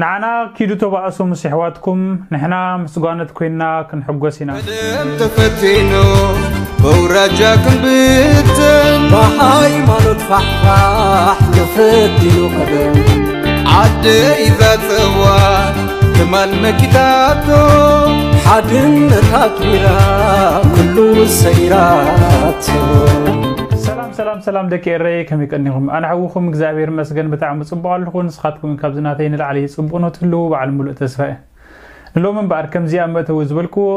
ንዓና ኪዱ ተባእሱ ምስ ኣሕዋትኩም፣ ንሕና ምስ ጓነት ኮይንና ክንሕጎስ ኢና። ቀደም ተፈቲኑ በውራጃ ክንብትን፣ ብሃይማኖት ፋሕፋሕ ተፈቲኑ ቀደም። ዓደይ ዛጸዋ ትማል መኪታቶ፣ ሓድነት ኣትዊራ ኩሉ ሰይራቶ። ሰላም ሰላም ሰላም ደቂ ኤረይ፣ ከመይ ቀኒኹም? ኣነ ሓውኹም እግዚኣብሔር ይመስገን ብጣዕሚ ጽቡቕ ኣለኹ። ንስኻትኩም ካብዚ ናተይ ንላዕሊ ጽቡቕ ነው ትህልዉ በዓል ሙሉእ ተስፋ እየ። ንሎሚ እምበኣር ከምዚ ኣብ መእተዊ ዝበልክዎ፣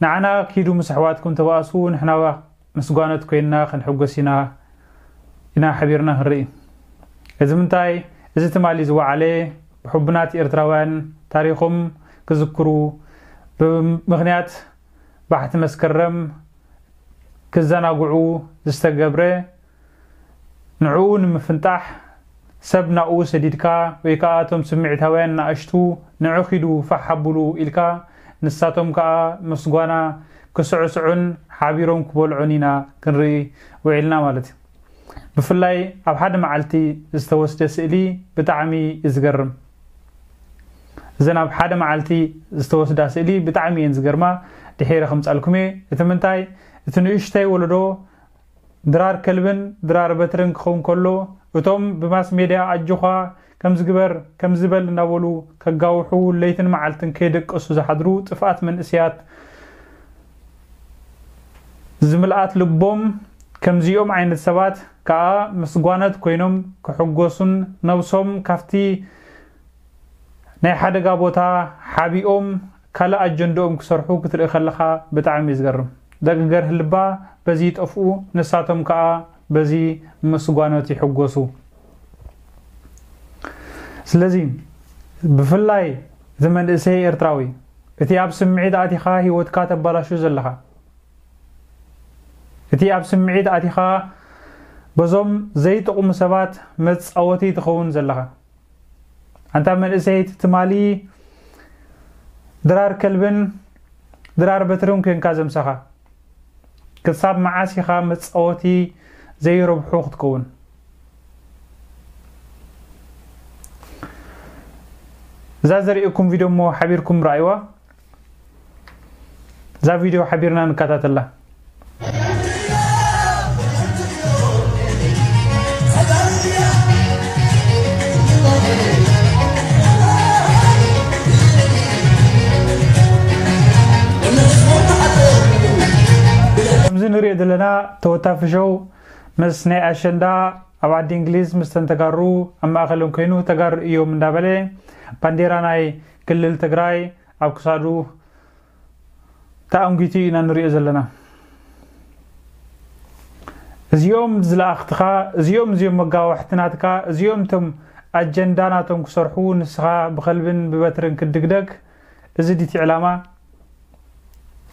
ንዓና ኪዱ ምስ ኣሕዋትኩም ተባእሱ፣ ንሕና ምስ ጓነት ኮይንና ክንሕጎስ ኢና፣ ኢና ሓቢርና ክንርኢ። እዚ ምንታይ? እዚ ትማሊ ዝወዓለ ብሕቡናት ኤርትራውያን ታሪኾም ክዝክሩ፣ ብምኽንያት ባሕቲ መስከረም ክዘናግዑ ዝተገብረ፣ ንዕኡ ንምፍንጣሕ ሰብ ናብኡ ሰዲድካ ወይ ከኣ እቶም ስምዒታውያን ንኣሽቱ ንዑ ኪዱ ፋሕ ኣብሉ ኢልካ ንሳቶም ከኣ ምስ ጓና ክስዕስዑን ሓቢሮም ክበልዑን ኢና ክንርኢ ውዒልና ማለት እዩ። ብፍላይ ኣብ ሓደ መዓልቲ ዝተወስደ ስእሊ ብጣዕሚ እዩ ዝገርም። እዘን ኣብ ሓደ መዓልቲ ዝተወስዳ ስእሊ ብጣዕሚ እየን ዝገርማ። ድሒረ ከምጻልኩም እየ። እቲ ምንታይ፣ እቲ ንእሽተይ ወለዶ ድራር ከልብን ድራር በትርን ክኸውን ከሎ፣ እቶም ብማስ ሜድያ ኣጆኻ ከምዚ ግበር ከምዚ በል እናበሉ ከጋውሑ ለይትን መዓልትን ከይደቀሱ ዝሓድሩ ጥፍኣት መንእሰያት ዝምልኣት ልቦም ከምዚኦም ዓይነት ሰባት ከኣ ምስ ጓነት ኮይኖም ክሕጎሱን ነብሶም ካብቲ ናይ ሓደጋ ቦታ ሓቢኦም ካልእ ኣጀንድኦም ክሰርሑ ክትርኢ ከለኻ ብጣዕሚ እዩ ዝገርም። ደቂ ገርህ ልባ በዚ ይጠፍኡ፣ ንሳቶም ከኣ በዚ ምስ ጓኖት ይሕጎሱ። ስለዚ ብፍላይ እቲ መንእሰይ ኤርትራዊ እቲ ኣብ ስምዒት ኣቲኻ ህይወትካ ተባላሹ ዘለኻ፣ እቲ ኣብ ስምዒት ኣቲኻ በዞም ዘይጠቕሙ ሰባት መጻወቲ ትኸውን ዘለኻ፣ ኣንታ መንእሰይ፣ እቲ ትማሊ ድራር ከልብን ድራር በትርን ኮንካ ዘምሰኻ፣ ክሳብ መዓስ ኢኻ መጻወቲ ዘይረብሑ ክትከውን? እዛ ዘርእየኩም ቪድዮ እሞ ሓቢርኩም ረኣይዋ። እዛ ቪድዮ ሓቢርና ንከታተላ። ከምዚ ንሪኦ ዘለና ተወታፊ ሸው ምስ ናይ ኣሸንዳ ኣብ ዓዲ እንግሊዝ ምስ ተጋሩ ኣብ ማእኸሎም ኮይኑ ተጋሩ እዮም እንዳበለ ባንዴራ ናይ ክልል ትግራይ ኣብ ክሳዱ ተኣንጊቱ ኢና ንሪኦ ዘለና። እዚኦም ዝለኣኽትኻ፣ እዚኦም እዚኦም መጋዋሕቲ ናትካ፣ እዚኦም እቶም ኣጀንዳ ናቶም ክሰርሑ ንስኻ ብኸልብን ብበትርን ክትድግደግ፣ እዚ ድቲ ዕላማ?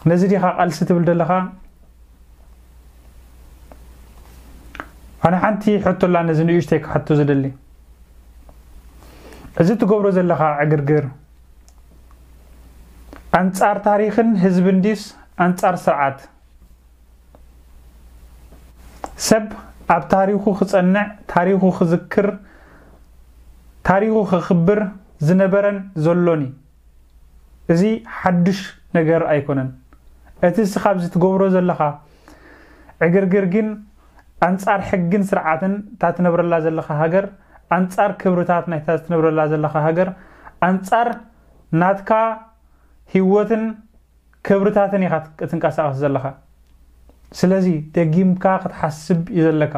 ነዚ ዲኻ ቃልሲ ትብል ዘለኻ? ኣነ ሓንቲ ሕቶ ኣላ ነዚ ንእሽተይ ክሓቶ ዝደሊ። እዚ ትገብሮ ዘለኻ ዕግርግር ኣንጻር ታሪኽን ህዝብን ዲስ ኣንጻር ስርዓት? ሰብ ኣብ ታሪኹ ክጸንዕ፣ ታሪኹ ክዝክር፣ ታሪኹ ከኽብር ዝነበረን ዘሎን እዩ። እዚ ሓድሽ ነገር ኣይኮነን። እቲ እስኻ ኣብዚ ትገብሮ ዘለኻ ዕግርግር ግን ኣንጻር ሕግን ስርዓትን እታ ትነብረላ ዘለኻ ሃገር፣ ኣንጻር ክብርታት ናይታ ትነብረላ ዘለኻ ሃገር፣ ኣንጻር ናትካ ህይወትን ክብርታትን ኢኻ ትንቀሳቐስ ዘለኻ። ስለዚ ደጊምካ ክትሓስብ እዩ ዘለካ።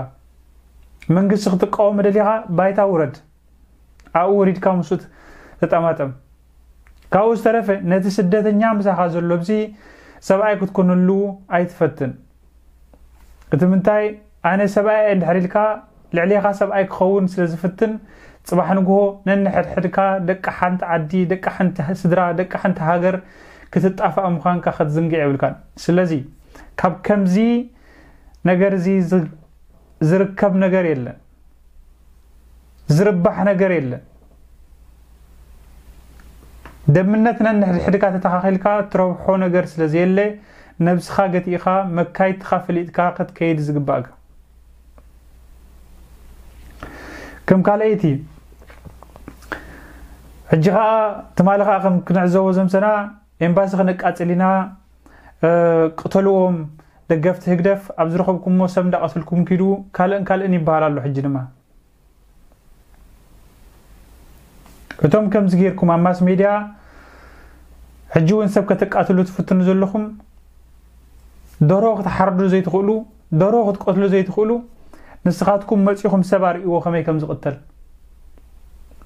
መንግስቲ ክትቃወም ደሊኻ ባይታ ውረድ። ኣብኡ ወሪድካ ምስኡ ተጠማጠም። ካብኡ ዝተረፈ ነቲ ስደተኛ ምሳኻ ዘሎ ብዚ ሰብኣይ ክትኮነሉ ኣይትፈትን። እቲ ምንታይ ኣነ ሰብኣይ እየ እንድሕር ኢልካ ልዕሌኻ ሰብኣይ ክኸውን ስለ ዝፍትን ጽባሕ ንግሆ ነንሕድሕድካ ደቂ ሓንቲ ዓዲ፣ ደቂ ሓንቲ ስድራ፣ ደቂ ሓንቲ ሃገር ክትጣፋእ ምዃንካ ክትዝንግዕ የብልካን። ስለዚ ካብ ከምዚ ነገር እዚ ዝ- ዝርከብ ነገር የለን። ዝርባሕ ነገር የለን። ደምነት ነንሕድሕድካ ተተኻኺልካ ትረብሖ ነገር ስለ ዘየለ ነብስኻ ገቲእኻ መካይትኻ ፈሊጥካ ክትከይድ ዝግባእካ። ከም ካልኣይቲ ሕጂ ኸዓ ትማሊ ኸዓ ከም ክንዕዘቦ ዘምሰና ኤምባሲ ክነቃጽል ኢና፣ እ፣ ቅተልዎም ደገፍቲ ህግደፍ፣ ኣብ ዝረኸብኩሞ ሰብ እንዳቐተልኩም ኪዱ፣ ካልእን ካልእን ይበሃል ኣሎ። ሕጂ ድማ እቶም ከምዚ ጌርኩም ኣብ ማስ ሜድያ ሕጂ እውን ሰብ ከተቃትሉ ትፍትኑ ዘለኹም፣ ደርሆ ክትሓርዱ ዘይትኽእሉ፣ ደርሆ ክትቀትሉ ዘይትኽእሉ፣ ንስኻትኩም መጺኹም ሰብ ኣርእይዎ ከመይ ከም ዝቕተል።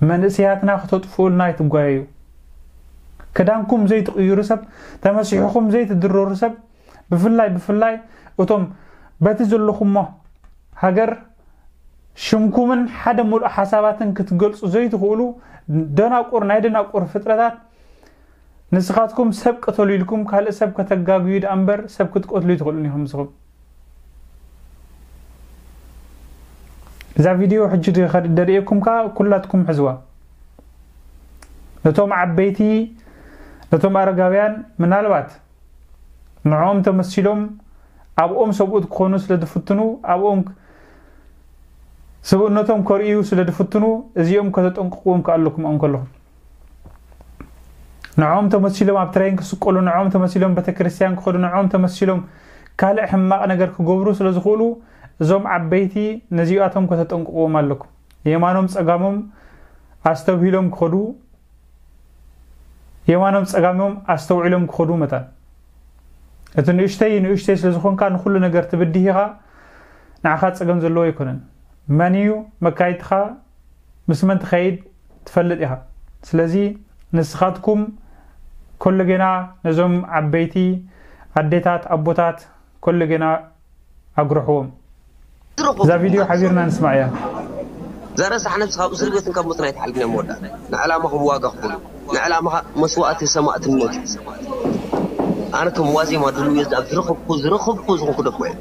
መንእሰያትና ክተጥፍኡልና ኣይትጓየዩ። ክዳንኩም ዘይትቕይሩ ሰብ፣ ተመሲሕኹም ዘይትድረሩ ሰብ፣ ብፍላይ፣ ብፍላይ እቶም በቲ ዘለኹሞ ሃገር ሽምኩምን ሓደ ሙሉእ ሓሳባትን ክትገልጹ ዘይትኽእሉ ደናቁር፣ ናይ ደናቁር ፍጥረታት፣ ንስኻትኩም ሰብ ቅተሉ ኢልኩም ካልእ ሰብ ከተጋግዩ ደኣ እምበር ሰብ ክትቀትሉ ኣይትኽእሉን ኢኹም ንስኹም። እዛ ቪድዮ ሕጂ ድ-፣ ከ-፣ ደርእየኩም ከኣ ኩላትኩም ሕዝዋ። ነቶም ዓበይቲ፣ ነቶም ኣረጋውያን ምናልባት ንዕኦም ተመሲሎም ኣብኦም ሰብኡት ክኾኑ ስለ ዝፍትኑ፣ ኣብኦም ክ-፣ ስብእነቶም ከርእዩ ስለ ዝፍትኑ፣ እዚኦም ከተጠንቅቕዎም ከኣለኩም ኣብኦም ከለኹም። ንዕኦም ተመሲሎም ኣብ ትሬን ክስቀሉ፣ ንዕኦም ተመሲሎም ቤተክርስትያን ክኸዱ፣ ንዕኦም ተመሲሎም ካልእ ሕማቕ ነገር ክገብሩ ስለ ዝኽእሉ፣ እዞም ዓበይቲ ነዚኣቶም ከተጠንቅቕዎም ኣለኩም። የማኖም ጸጋሞም ኣስተብሂሎም ክኸዱ፣ የማኖም ጸጋሞም ኣስተውዒሎም ክኸዱ መታን። እቲ ንእሽተይ ንእሽተይ ስለ ዝኾንካ ንኹሉ ነገር ትብድህ ኢኻ፣ ንዓኻ ጸገም ዘለዎ ኣይኮነን። መን እዩ መካይድትኻ፣ ምስ መን ትኸይድ ትፈልጥ ኢኻ። ስለዚ ንስኻትኩም ኮለጌና ነዞም ዓበይቲ ኣዴታት፣ ኣቦታት ኮለጌና ኣጉርሕዎም። እዛ ቪድዮ ሓቢርና ንስማዕ እያ። እዛ ረሳሕ ነብሲ ካብ እስር ቤትን ካብ ሞትን ኣይትሓልፍን እያ መወዳእታ። ንዕላማኹም ዋጋ ክፍሉ። ንዕላማኻ መስዋእቲ ሰማእትነት እዩ። ኣነ ከም ዋዜማ ድልው እየ፣ ኣብ ዝረኸብኩ፣ ዝረኸብኩ ዝኾንኩ ደኮ እየ።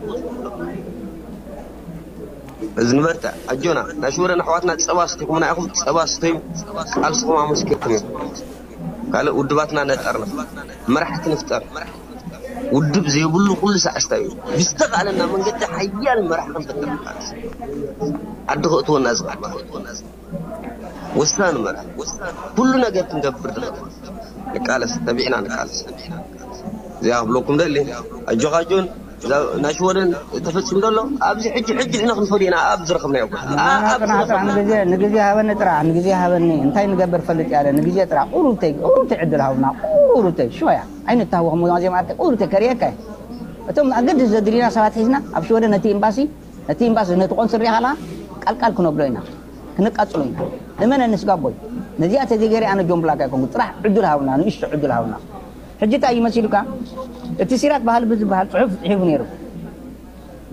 እዚ ንበርትዕ፣ ኣጆና። ናይ ሽወደን ኣሕዋትና ጸባ ስተይኩምና ኢኹም፣ ጸባ ስተዩ፣ ቃልስኹም ኣመስኪርኩም ኢኹም። ካልእ ውድባትና ነጠርና፣ መራሕቲ ንፍጠር። ውድብ ዘይብሉ ኩሉ ሳዕስታ እዩ። ብዝተኻእለና መንገዲ ሓያል መራሕ ክንፈጥር ንቃለስ። ዓዲ ከእትወና ዝኽእል መራሕ። ወሳኒ መራሕ። ኩሉ ነገር ክንገብር ንኽእል። ንቃለስ፣ ተቢዕና ንቃለስ። እዚኣ ክብለኩም ደሊ። ኣጆኻ ጆን፣ እዛ ናይ ሽወደን ተፈጺሙ ዘሎ፣ ኣብዚ ሕጂ፣ ሕጂ ንሕና ክንፈድዮ ኢና፣ ኣብ ዝረኸብናዮ ቦታ። ኣ-፣ ኣብ ጽናሕ፣ ጽናሕ፣ ዝረኸብናዮ። ንግዜ፣ ንግዜ ሃበኒ ጥራሕ፣ ንግዜ ሃበኒ። እንታይ ንገብር ፈልጥ ያለ፣ ንግዜ ጥራሕ። ቁሩብተይ፣ ቁሩብተይ ዕድል ሃቡና፣ ቁሩብተይ። ሽወያ። ኣይንተሃወኽ፣ ሞ ዜማ ኣርተ ቁሩብተይ ከርእየካ እየ። እቶም ኣገድስ ዘድልዩና ሰባት ሒዝና፣ ኣብ ሽወደን ነቲ ኤምባሲ፣ ነቲ ኤምባሲ፣ ነቲ ቆንስል ሪኢኻ ኣለኻ፣ ቃልቃል ክነብሎ ኢና። ክነቃጽሎ ኢና። እመነኒ ስጋቦይ። ነዚኣ ተዘይገይረ ኣነ ጆን ብላክ ኣይኮንኩ። ጥራሕ ዕድል ሃቡና፣ ንእሽቶ ዕድል ሃቡና። ሕጂ እንታይ እዩ መሲሉካ? እቲ ሲራክ ባህልቢ ዝበሃል ጽሑፍ ጽሒፉ ነይሩ።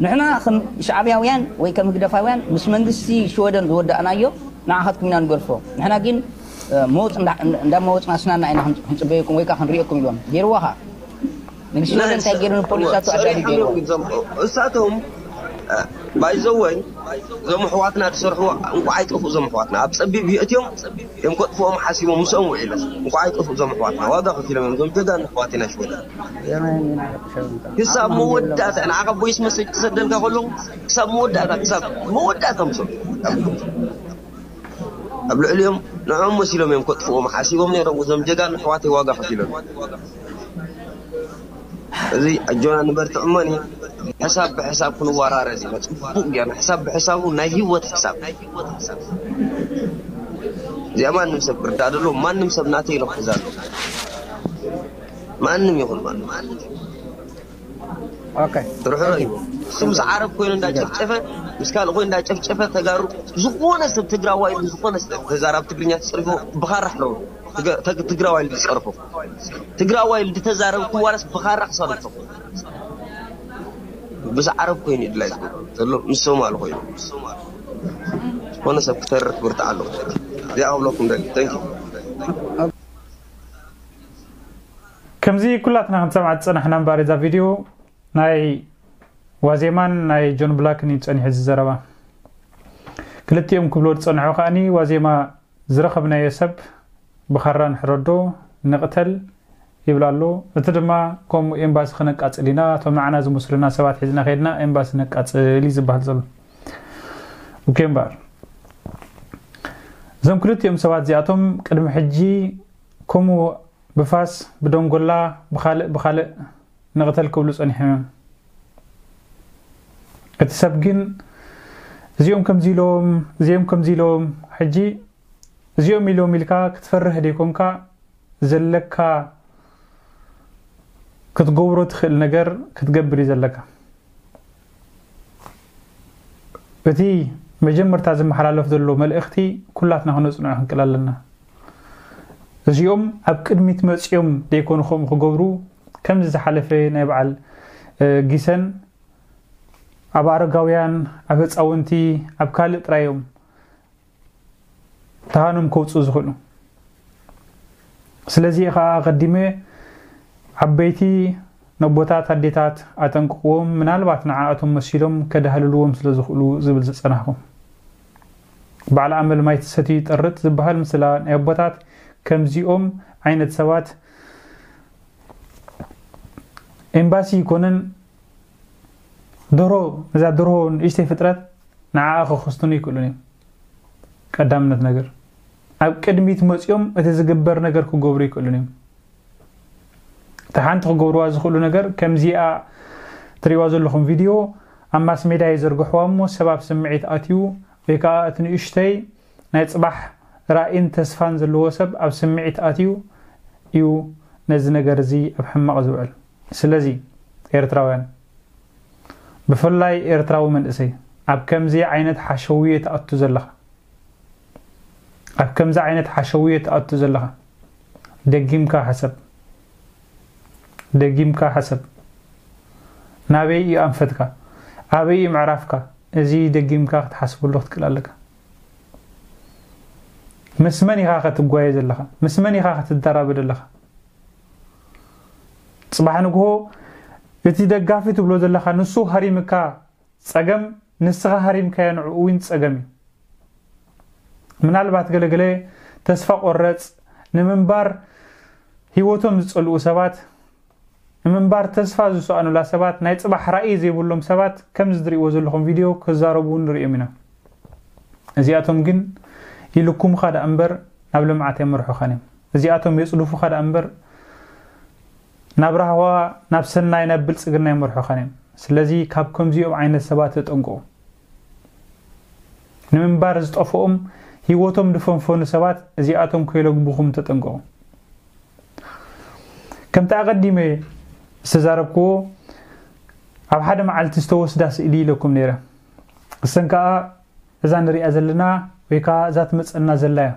ንሕና ከም ሻዕብያውያን ወይ ከም ህግደፋውያን ምስ መንግስቲ ሽወደን ዝወዳእናዮ ንዓኻትኩም ኢና ንገድፎ። ንሕና ግን፣ እ፣ መወጽ እንዳ-፣ እንዳ-፣ እንዳመወጽና ስናና ኢና ክንጽ-፣ ክንጽበየኩም ወይ ከኣ ክንርእየኩም ኢሎም። ገይርዎ ኸኣ። መንግስቲ ሽወደን እንታይ ገይሩ ንፖሊሳቱ ኣዳሂዱ ገይርዎ። እሳቶም፣ እ፣ ባይዘወይ፣ እዞም ኣሕዋትና ዝሰርሕዎ እንኳዕ ኣይጠፍኡ እዞም ኣሕዋትና። ኣብ ጸቢብ የእትዮም፣ እዮም ከጥፍኦም ሓሲቦም ምስኦም ውዒሎም። እንኳዕ ኣይጠፍኡ እዞም ኣሕዋትና። ዋጋ ከፊሎም እዮም እዞም ጀጋኑ ኣሕዋትና ሽወደን። ክሳብ መወዳእታ፣ ንዓኻ ቮይስ መሰጅ ክሰደልካ ከለኹ፣ ክሳብ መወዳእታ፣ ክሳብ መወዳእታ ምስኦም። ኣብ ልዕሊኦም፣ ንዕኦም መሲሎም እዮም ከጥፍዎም ሓሲቦም ነይሮም። እዞም ጀጋኑ ኣሕዋተይ ዋጋ ከፊሎም። እዚ ኣጆና ንበርትዕ እሞኒ፣ ሕሳብ ብሕሳብ ክንወራረድ ኢና። ጽቡቕ ጌርና፣ ሕሳብ ብሕሳቡ ናይ ህይወት ሕሳብ። እዚኣ ማንም ሰብ ክርዳእ ደሎ፣ ማንም ሰብ ናተይ ኢሉ ክሕዛ ኣሎ። ማንም ይኹን ማንም። ኦኬ። ርሕሩሕ እዩ። እሱ ምስ ዓረብ ኮይኑ እንዳጨፍጨፈ፣ ምስ ካልእ ኮይኑ እንዳጨፍጨፈ፣ ተጋሩ፣ ዝኾነ ሰብ ትግራዋይ ኢሉ፣ ዝኾነ ሰብ ተዛራቢ ትግርኛ ተጸሪፉ ብኻራ ሕረሩ። ትግ-፣ ትግ-፣ ትግራዋይ ኢሉ ዝጸርፎ። ትግራዋይ ኢሉ ዝተዛረብኩም ዋላስ ብኻራ ክሳዱ ይተኹ። ምስ ዓረብ ኮይኑ እዩ ድላይ ዝገብሮ ዘሎ፣ ምስ ሶማል ኮይኑ። ዝኾነ ሰብ ክተርፍ ብርትዕ ኣለዎ። እዚኣ ክብለኩም ደሊ። Thank you። ከምዚ ኩላትና ክንሰምዓ ዝጸናሕና እምበኣር እዛ ቪድዮ ናይ ዋዜማን ናይ ጆን ብላክን እዩ ጸኒሑ እዚ ዘረባ። ክልቲኦም ክብሎ ዝጸንሑ ከኣኒ ዋዜማ ዝረኸብናዮ ሰብ ብኻራ ንሕረዶ፣ ንቕተል ይብል ኣሎ። እቲ ድማ ከምኡ ኤምባሲ ክነቃጽል ኢና፣ እቶም ንዓና ዝመስሉና ሰባት ሒዝና ከይድና ኤምባሲ ነቃጽል እዩ ዝበሃል ዘሎ። ኦኬ እምበኣር እዞም ክልቲኦም ሰባት እዚኣቶም ቅድሚ ሕጂ ከምኡ ብፋስ፣ ብደንጎላ፣ ብኻልእ ብኻልእ ንቕተል ክብሉ ጸኒሖም እዮም። እቲ ሰብ ግን እዚኦም ከምዚ ኢሎም፣ እዚኦም ከምዚ ኢሎም፣ ሕጂ እዚኦም ኢሎም ኢልካ ክትፈርህ ደይኮንካ ዘለካ ክትገብሮ ትኽእል ነገር ክትገብር እዩ ዘለካ። እቲ መጀመርታ ዝመሓላለፍ ዘሎ መልእኽቲ ኩላትና ክነጽንዖ ክንክእል ኣለና። እዚኦም ኣብ ቅድሚት መጺኦም ደይኮኑ ከምኡ ክገብሩ፣ ከምዚ ዝሓለፈ ናይ በዓል እ፣ ጊሰን ኣብ ኣረጋውያን፣ ኣብ ህፃውንቲ፣ ኣብ ካልእ ጥራዮም ተሃኖም ከውፅኡ ዝኽእሉ። ስለዚ ከዓ ኣቐዲመ ዓበይቲ ነቦታት ኣዴታት ኣጠንቅቕዎም፣ ምናልባት ንዓኣቶም መሲሎም ከዳህልልዎም ስለ ዝኽእሉ ዝብል ዝጸናሕኩ። በዓል ኣመል ማይ ትሰትዩ ይጠርጥ ዝበሃል ምስላ ናይ ኣቦታት ከምዚኦም ዓይነት ሰባት ኤምባሲ ይኮነን ደሮ፣ ነዛ ደርሆ ንእሽተይ ፍጥረት ንዓኣ ክኽስትኑ ይክእሉን እዮም። ቀዳምነት ነገር ኣብ ቅድሚት መፂኦም እቲ ዝግበር ነገር ክገብሩ ይክእሉን እዮም። እቲ ሓንቲ ክገብርዋ ዝኽእሉ ነገር ከምዚኣ ትሪእዋ ዘለኹም ቪድዮ ኣብ ማስ ሜድያ ይዘርግሕዋ እሞ ሰብ ኣብ ስምዒት ኣትዩ ወይ ከዓ እቲ ንእሽተይ ናይ ፅባሕ ራእይን ተስፋን ዘለዎ ሰብ ኣብ ስምዒት ኣትዩ እዩ ነዚ ነገር እዚ ኣብ ሕማቕ ዝውዕል። ስለዚ ኤርትራውያን ብፍላይ ኤርትራዊ መንእሰይ ኣብ ከምዚ ዓይነት ሓሸውየ ትኣቱ ዘለኻ ኣብ ከምዚ ዓይነት ሓሸውየ ትኣቱ ዘለኻ ደጊምካ ሕሰብ። ደጊምካ ሕሰብ። ናበይ እዩ ኣንፈትካ? ኣበይ እዩ ምዕራፍካ? እዚ ደጊምካ ክትሓስበሉ ክትክእል ኣለካ። ምስ መን ኢኻ ክትጓየ ዘለኻ? ምስ መን ኢኻ ክትደራበ ዘለኻ? ጽባሕ ንግሆ እቲ ደጋፊ ትብሎ ዘለኻ ንሱ ሃሪምካ ጸገም፣ ንስኻ ሃሪምካዮ ንዕኡ እውን ጸገም እዩ። ምናልባት ገለገለ ተስፋ ቆረጽ ንምንባር ህይወቶም ዝጸልኡ ሰባት፣ ንምንባር ተስፋ ዝሰኣኑላ ሰባት፣ ናይ ጽባሕ ራእይ ዘይብሎም ሰባት ከምዚ ዝሪእዎ ዘለኹም ቪድዮ ክዛረቡ እውን ንሪኦም ኢና። እዚኣቶም ግን ይልኩምኻ ደኣ እምበር ናብ ልምዓት ኣይመርሑኻን እዮም። እዚኣቶም የጽድፉኻ ደኣ እምበር ናብ ራህዋ፣ ናብ ሰናይ፣ ናብ ብልጽግና ኣይመርሑኻን እዮም። ስለዚ ካብ ከምዚኦም ዓይነት ሰባት ተጠንቀቑ። ንምንባር ዝጠፍኦም ህይወቶም ዝፈንፈኑ ሰባት እዚኣቶም ከይለግቡኹም ተጠንቀቑ። ከምቲ ኣቐዲመ ዝተዛረብክዎ ኣብ ሓደ መዓልቲ ዝተወስዳ ስእሊ ኢለኩም ነይረ። እሰን ከኣ እዛ ንሪኣ ዘለና ወይ ከኣ እዛ ትመጸና ዘላ እያ።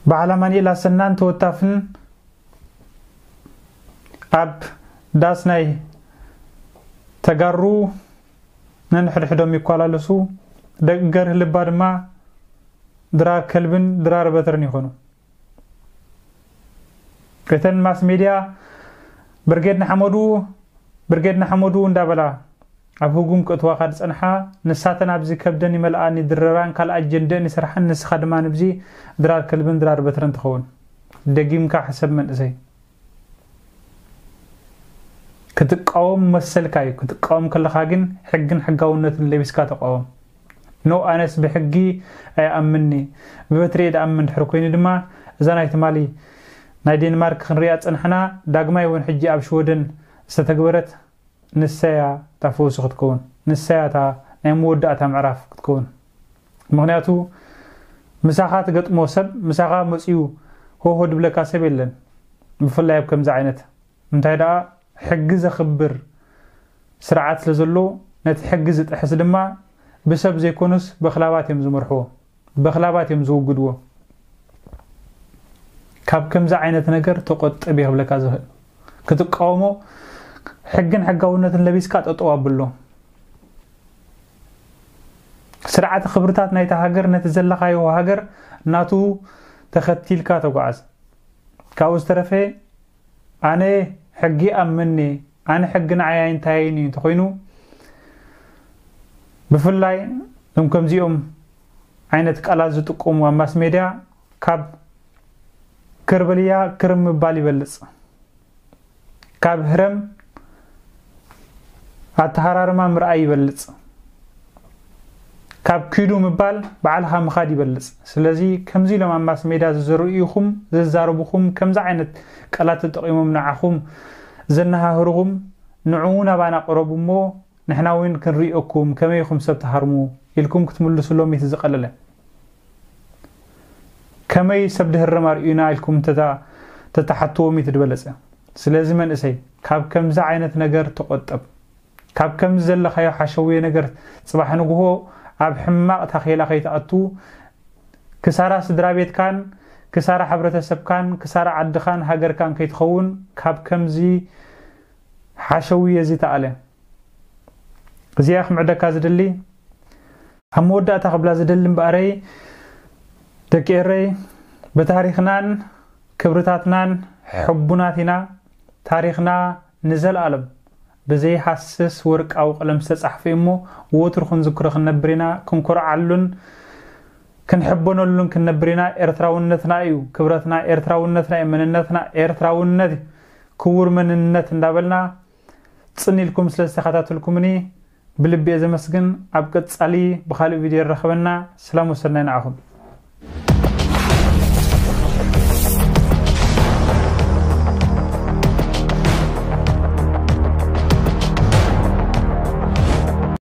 በዓል ኣማኑኤል ኣሰናን ተወታፍን ኣብ ዳስ ናይ ተጋሩ ነንሕድሕዶም ይኳላለሱ። ደቂ ገርህ ልባ ድማ ድራር ከልብን ድራር በትርን ይኾኑ። እተን ማስ ሜድያ ብርጌድ ንሓመዱ ብርጌድ ንሓመዱ እንዳበላ ኣብ ህጉም ክእትዋኻ ዝጸንሓ፣ ንሳተን ኣብዚ ከብደን ይመልኣን ይድረራን ካልእ ኣጀንደአን ይሰርሓን፣ ንስኻ ድማ ንብዚ ድራር ከልብን ድራር በትርን ትኸውን። ደጊምካ ሕሰብ መንእሰይ። ክትቃወም መሰልካ እዩ። ክትቃወም ከለኻ ግን ሕግን ሕጋውነትን ለቢስካ ተቃወም። ኖ፣ ኣነስ ብሕጊ ኣይኣምንኒ፣ ብበትሪ እየ ዝኣምን ድሕሪ ኮይኑ ድማ እዛ ናይ ትማሊ ናይ ዴንማርክ ክንሪኣ ዝጸናሕና ዳግማይ እውን ሕጂ ኣብ ሽወደን ዝተተግበረት ንሳያ እታ ፈውሲ ክትከውን፣ ንሳያ እታ ናይ መወዳእታ ምዕራፍ ክትከውን። ምኽንያቱ ምሳኻ ትገጥሞ ሰብ፣ ምሳኻ መጺኡ ሆሆ ድብለካ ሰብ የለን። ብፍላይ ኣብ ከምዚ ዓይነት እንታይ ደኣ ሕጊ ዘኽብር ስርዓት ስለ ዘሎ፣ ነቲ ሕጊ ዝጥሕስ ድማ ብሰብ ዘይኮኑስ በኽላባት እዮም ዝመርሕዎ፣ በኽላባት እዮም ዝውግድዎ። ካብ ከምዚ ዓይነት ነገር ተቆጠብ እየ ክብለካ ዝኽእል። ክትቃወሞ ሕግን ሕጋውነትን ለቢስካ ጠጠው ኣብሎ። ስርዓተ ክብርታት ናይታ ሃገር ነቲ ዘለኻዮ ሃገር ናቱ ተኸቲልካ ተጓዓዝ። ካብኡ ዝተረፈ ኣነ ሕጊ ኣምኒ፣ ኣነ ሕጊ ንዓይ ኣይንታይን እዩ እንተኾይኑ፣ ብፍላይ እዞም ከምዚኦም ዓይነት ቃላት ዝጥቀሙ ኣብ ማስ ሜድያ ካብ ከርበልያ ክርም ምባል ይበልጽ። ካብ ህረም ኣተሃራርማ ምርኣይ ይበልጽ። ካብ ኪዱ ምባል ባዕልኻ ምኻድ ይበልጽ። ስለዚ ከምዚ ኢሎም ኣብ ማስ ሜድያ ዝዝርኡኹም፣ ዝዛረቡኹም፣ ከምዚ ዓይነት ቃላት ተጠቒሞም ንዓኹም ዘነሃህሩኹም፣ ንዑ ናባና ቅረቡ እሞ ንሕና እውን ክንርእየኩም፣ ከመይ ኢኹም ሰብ ትሃርሙ ኢልኩም ክትምልሱሎም እቲ ዝቐለለ። ከመይ ሰብ ድህረም ኣርእዩና ኢልኩም ተታ-፣ ተተሓትዎም እቲ ዝበለጸ። ስለዚ መንእሰይ ካብ ከምዚ ዓይነት ነገር ተቖጠብ። ካብ ከምዚ ዘለኻዮ ሓሸውየ ነገር ጽባሕ ንግሆ ኣብ ሕማቕ ታኼላ ከይትኣቱ፣ ክሳራ ስድራ ቤትካን ክሳራ ሕብረተሰብካን ክሳራ ዓድኻን ሃገርካን ከይትኸውን ካብ ከምዚ ሓሸውየ እዚ ተኣለ። እዚኣ ክምዕደካ ዝደሊ፣ ኣብ መወዳእታ ክብላ ዝደሊ እምበኣረይ፣ ደቂ ኤረይ፣ ብታሪኽናን ክብርታትናን ሕቡናት ኢና። ታሪኽና ንዘለኣለም ብዘይሃስስ ወርቃዊ ቀለም ዝተጻሕፈ እዩ እሞ፣ ወትሩ ክንዝክሮ ክንነብር ኢና። ክንኮርዓሉን ክንሕበነሉን ክንነብር ኢና። ኤርትራውነትና እዩ ክብረትና፣ ኤርትራውነትና እዩ መንነትና፣ ኤርትራውነት እዩ ክቡር መንነት እንዳበልና፣ ጽን ኢልኩም ስለ ዝተኸታተልኩምኒ ብልቢ እየ ዘመስግን። ኣብ ቀጻሊ ብኻልእ ቪድዮ ይራኸበና። ሰላም ወሰናይ ንዓኹም።